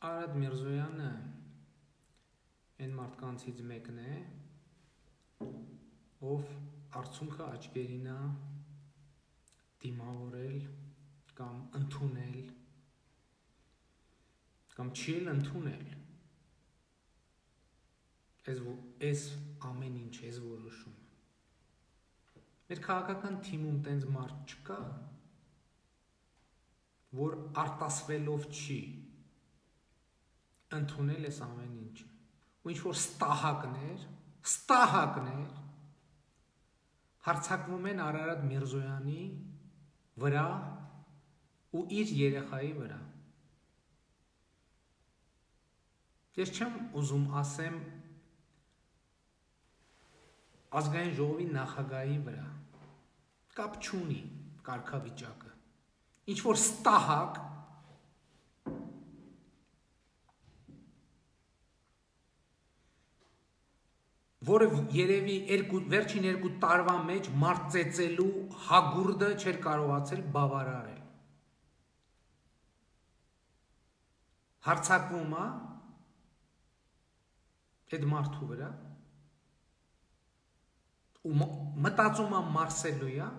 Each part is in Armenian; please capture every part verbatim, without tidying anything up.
Արադ Միրզոյանը այն մարդկանցից մեկն է, ով արդյունքը աչքերին է դիմավորել կամ ընդունել կամ չի էլ ընդունել այս ամեն ինչ, այս որոշումը։ Մեր քաղաքական թիմում տենց մարդ չկա, որ արտասվելով չի ընդունել այս ամեն ինչը, ու ինչ-որ ստահակներ, ստահակներ հարցակվում են Արարատ Միրզոյանի վրա ու իր երեխայի վրա։ Ես չեմ ուզում ասեմ ազգային ժողովի նախագահի վրա, կապ չունի կարգավիճակը, ինչ-որ ստահակ որը երևի վերջին երկու տարվա մեջ մարդ-ծեծելու հագուրդը չէր կարողացել բավարարել։ Հարցակվում է այդ մարդու վրա ու մտածում է մարսելու է,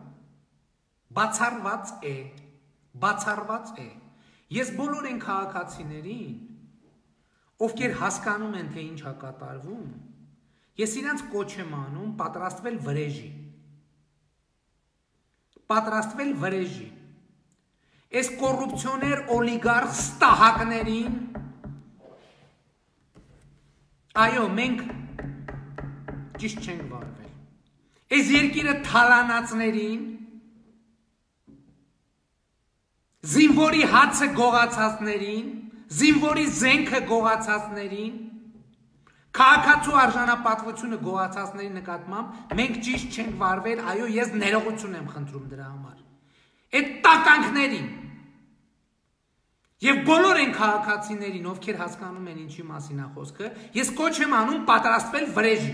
բացառված է, բացառված է։ Ես բոլոր են քաղաքացիներին, ովքեր հասկանում են, թե ինչ է կատարվում, ես իրանց կոչ եմ անում պատրաստվել վրեժի, պատրաստվել վրեժի, այս կոռուպցիոներ օլիգարխ ստահակներին, այո, մենք ճիշտ չենք վարվել, այս երկիրը թալանացներին, զինվորի հացը գողացածներին, զինվորի զենքը գողացածներին, քաղաքացու արժանապատվությունը գողացածների նկատմամբ մենք ճիշտ չենք վարվել, այո, ես ներողություն եմ խնդրում դրա համար։ Այդ տականքներին եւ բոլոր այն քաղաքացիներին, ովքեր հասկանում են ինչի մասին է խոսքը, ես կոչ եմ անում պատրաստվել վրեժի։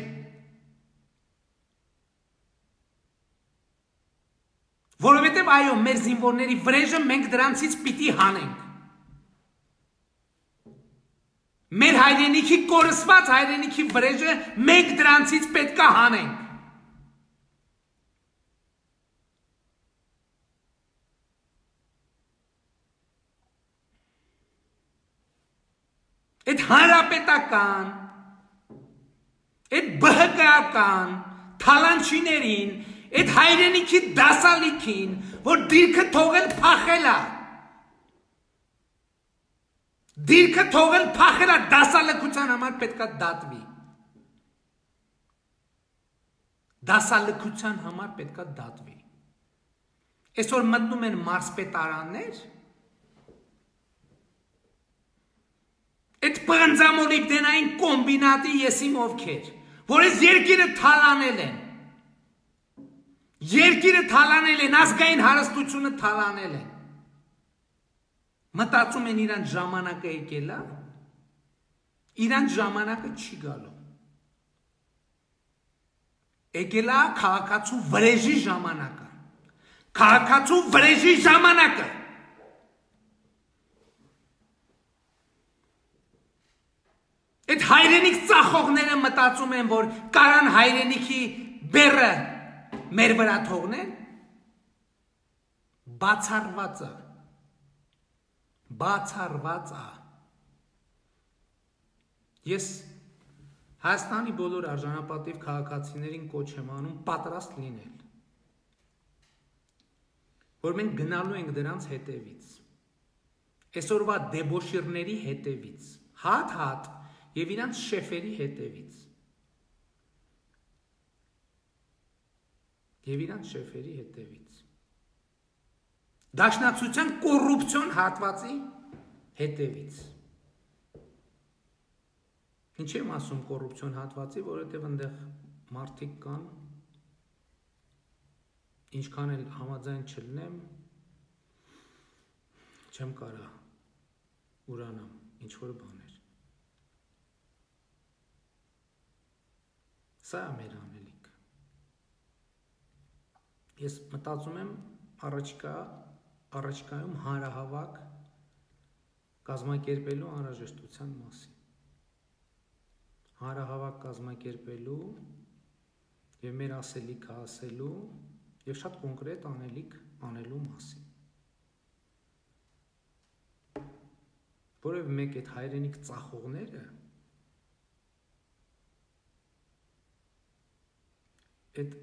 Որովհետեւ այո, մեր զինվորների վրեժը մենք դրանցից պիտի հանենք։ Մեր հայրենիքի կորսված հայրենիքի վրեժը մենք դրանցից պետք է հանենք։ Այդ հանրապետական, այդ բհկայական թալանչիներին, այդ հայրենիքի դասալիքին, որ դիրքը թողել փախել է, դիրքը թողել փախել է դասալքության համար պետք է դատվի։ Դասալքության համար պետք է դատվի։ Այսօր մտնում են մարզպետարաններ, այդ պղնձամոլիբդենային կոմբինատի եսիմ ովքեր, որ այս երկիրը թալանել են, երկիրը թալանել են, ազգային հարստությունը թալանել են, մտածում են իրանց ժամանակը եկել է, իրանց ժամանակը չի գալու։ Եկել է քաղաքացու վրեժի ժամանակը, քաղաքացու վրեժի ժամանակը։ Այդ հայրենիք ծախողները մտածում են, որ կարան հայրենիքի բեռը մեր վրա թողնեն, բացառված է, բացառված է։ Ես Հայաստանի բոլոր արժանապատիվ քաղաքացիներին կոչ եմ անում պատրաստ լինել, որ մենք գնալու ենք դրանց հետևից, այսօրվա դեբոշիրների հետևից, հատ-հատ և իրանց շեֆերի հետևից, և իրանց շեֆերի հետևից, դաշնակցության կոռուպցիոն հատվածի հետևից։ Ինչ եմ ասում կոռուպցիոն հատվածի, որովհետև այնտեղ մարդիկ կան, ինչքան էլ համաձայն չլինեմ, չեմ կարա ուրանամ ինչ-որ բաներ։ Սա է մեր անելիքը։ Ես մտածում եմ առաջիկա, առաջիկայում հանրահավաք կազմակերպելու անհրաժեշտության մասին։ Հանրահավաք կազմակերպելու եւ մեր ասելիքը ասելու եւ շատ կոնկրետ անելիք անելու մասին։ Որովհետեւ մեկ այդ հայրենիք ծախողները այդ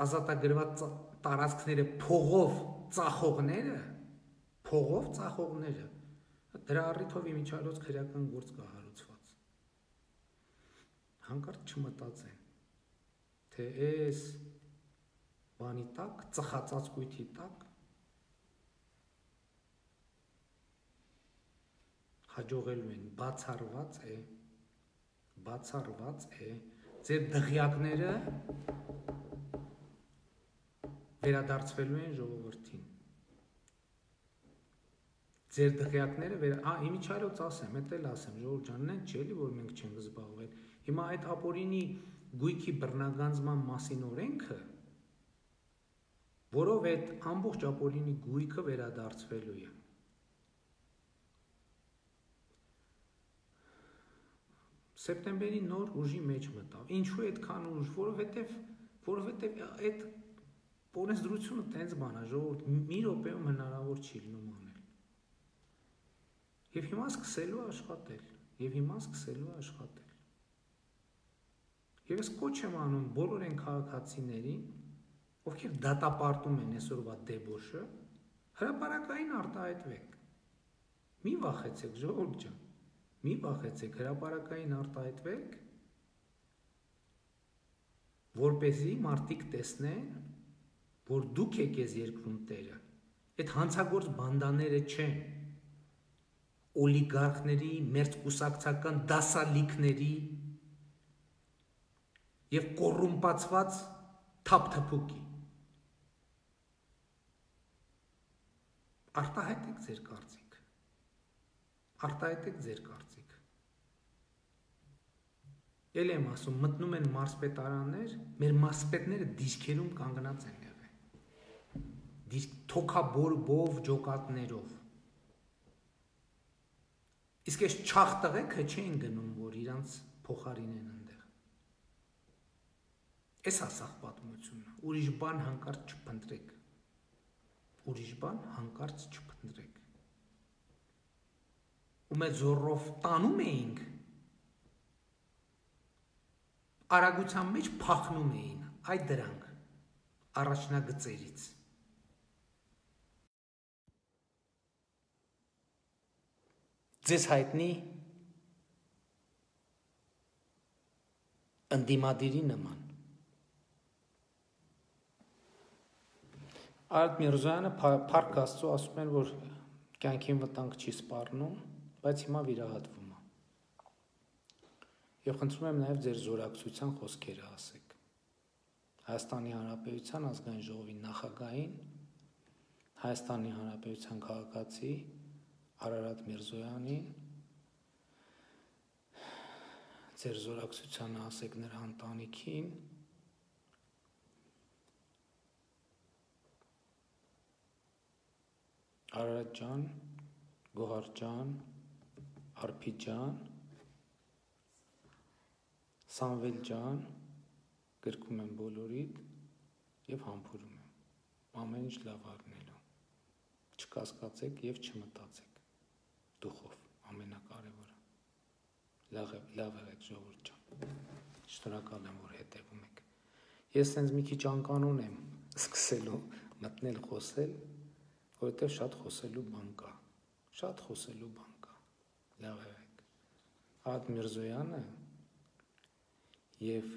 ազատագրված տարածքները փողով ծախողները, փողով ծախողները, դրա առիթով իմիջիայլոց քրեական գործ կա հարուցված։ Հանկարծ չմտածեն, թե այս բանի տակ, ծխածած կույթի տակ հաջողելու են, բացառված է, բացառված է, ձեր դղյակները վերադարձվելու են ժողովրդին։ Ձեր դղյակները վեր, ա, իմիջիայլոց ասեմ, էդ էլ ասեմ, ժողովուրդ ջան, նեն չի էլի, որ մենք չենք զբաղվել։ Հիմա այդ ապօրինի գույքի բռնագանձման մասին օրենքը, որով այդ ամբողջ ապօրինի գույքը վերադարձվելու է։ Սեպտեմբերի նոր ուժի մեջ մտավ։ Ինչու այդքան ուժ, որովհետև որովհետև այդ օրենսդրությունը տենց բան է, ժողովուրդ մի րոպեում հնարավոր չի լինում անել։ Եվ հիմա սկսելու աշխատել, եւ հիմա սկսելու աշխատել։ Եվ ես կոչ եմ անում բոլոր այն քաղաքացիներին, ովքեր դատապարտում են այսօրվա դեբոշը, հրապարակային արտահայտվեք։ Մի վախեցեք, ժողովուրդ ջան։ Մի վախեցեք, հրապարակային արտահայտվեք, որպեսզի մարդիկ տեսնեն, որ դուք եք ես երկրում տերը։ Այդ հանցագործ բանդաները չեն, օլիգարխների, մերձ կուսակցական դասալիքների եւ կոռումպացված թափթփուկի։ Արտահայտեք ձեր կարծիք։ Արտահայտեք ձեր կարծիք։ Էլ եմ ասում, մտնում են մարզպետարաններ, մեր մարզպետները դիսկերում կանգնած են եղել։ Դիսկ թոքաբորբով, ջոկատներով։ Իսկ այս չաղ տղեկը չեն գնում, որ իրանց փոխարինեն այնտեղ։ Էս է սաղ պատմությունը։ Ուրիշ բան հանկարծ չփնտրեք։ Ուրիշ բան հանկարծ չփնտրեք։ ու մեծ զորով տանում էինք, արագության մեջ փախնում էին այդ դրանք առաջնագծերից։ Ձեզ հայտնի ընդդիմադիրի նման։ Արդ Միրզոյանը Փառք Աստծո ասում են, որ կյանքին վտանգ չի սպառնում, բայց հիմա վիրահատվում է։ Եվ խնդրում եմ նաև ձեր զորակցության խոսքերը ասեք։ Հայաստանի Հանրապետության ազգային ժողովի նախագահին, Հայաստանի Հանրապետության քաղաքացի Արարատ Միրզոյանին, ձեր զորակցությանը ասեք նրա ընտանիքին, Արարատ ջան, Գոհար ջան, Արփի ջան, Սամվել ջան, գրկում եմ բոլորիդ եւ համբուրում եմ, ամեն ինչ լավ առնելու, չկասկածեք եւ չմտածեք, դուխով, ամենակարևորը, լավ եղեք ժողովուրդ ջան, շնորհակալ եմ, որ հետևում եք, ես հենց մի քիչ անկանոն եմ սկսելու մտնել խոսել, որովհետեւ շատ խոսելու բան կա, շատ խոսելու բան կա, լավ եղեք, Արարատ Միրզոյանը և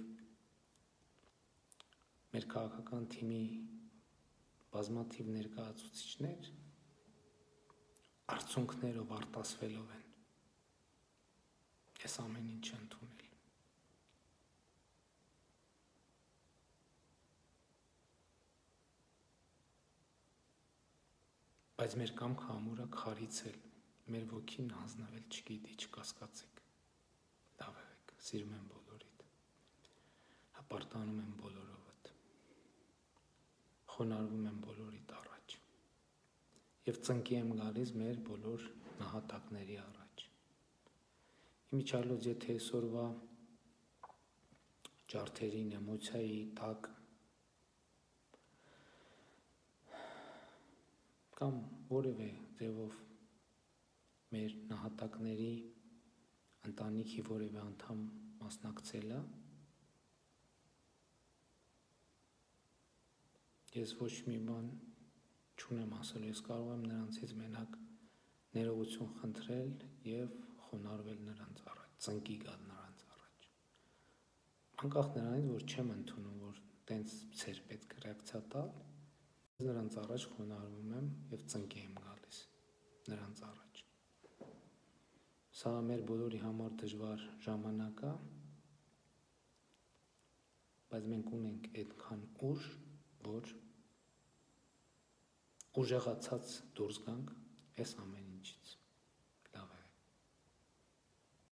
մեր քաղաքական թիմի բազմաթիվ ներկայացուցիչներ արցունքներով արտասվելով են այս ամեն ինչը ընդունել։ Բայց մեր կամքը ամուր է քարիցել, մեր ոգին հանձնվել չգիտի, չկասկածեք, լավ եղեք, սիրում եմ բոլորիդ, հպարտանում եմ բոլորովդ, խոնարհվում եմ բոլորիդ առաջ եւ ծնկի եմ գալիս մեր բոլոր նահատակների առաջ։ Իմիջիալոց եթե այսօրվա ջարդերին, էմոցիայի տակ կամ որևէ ձևով մեր նահատակների ընտանիքի որևէ անդամ մասնակցելը, ես ոչ մի բան չունեմ ասելու, ես կարող եմ նրանցից մենակ ներողություն խնդրել եւ խոնարհվել նրանց առաջ, ծնկի գալ նրանց առաջ։ Անկախ նրանից, որ չեմ ընդունում, որ տենց ծեր պետք է ռեակցիա տալ, ես նրանց առաջ խոնարհվում եմ եւ ծնկի եմ գալիս նրանց առաջ։ Սա մեր բոլորի համար դժվար ժամանակ է, բայց մենք ունենք այդքան ուժ, որ ուժեղացած դուրս գանք այս ամենից։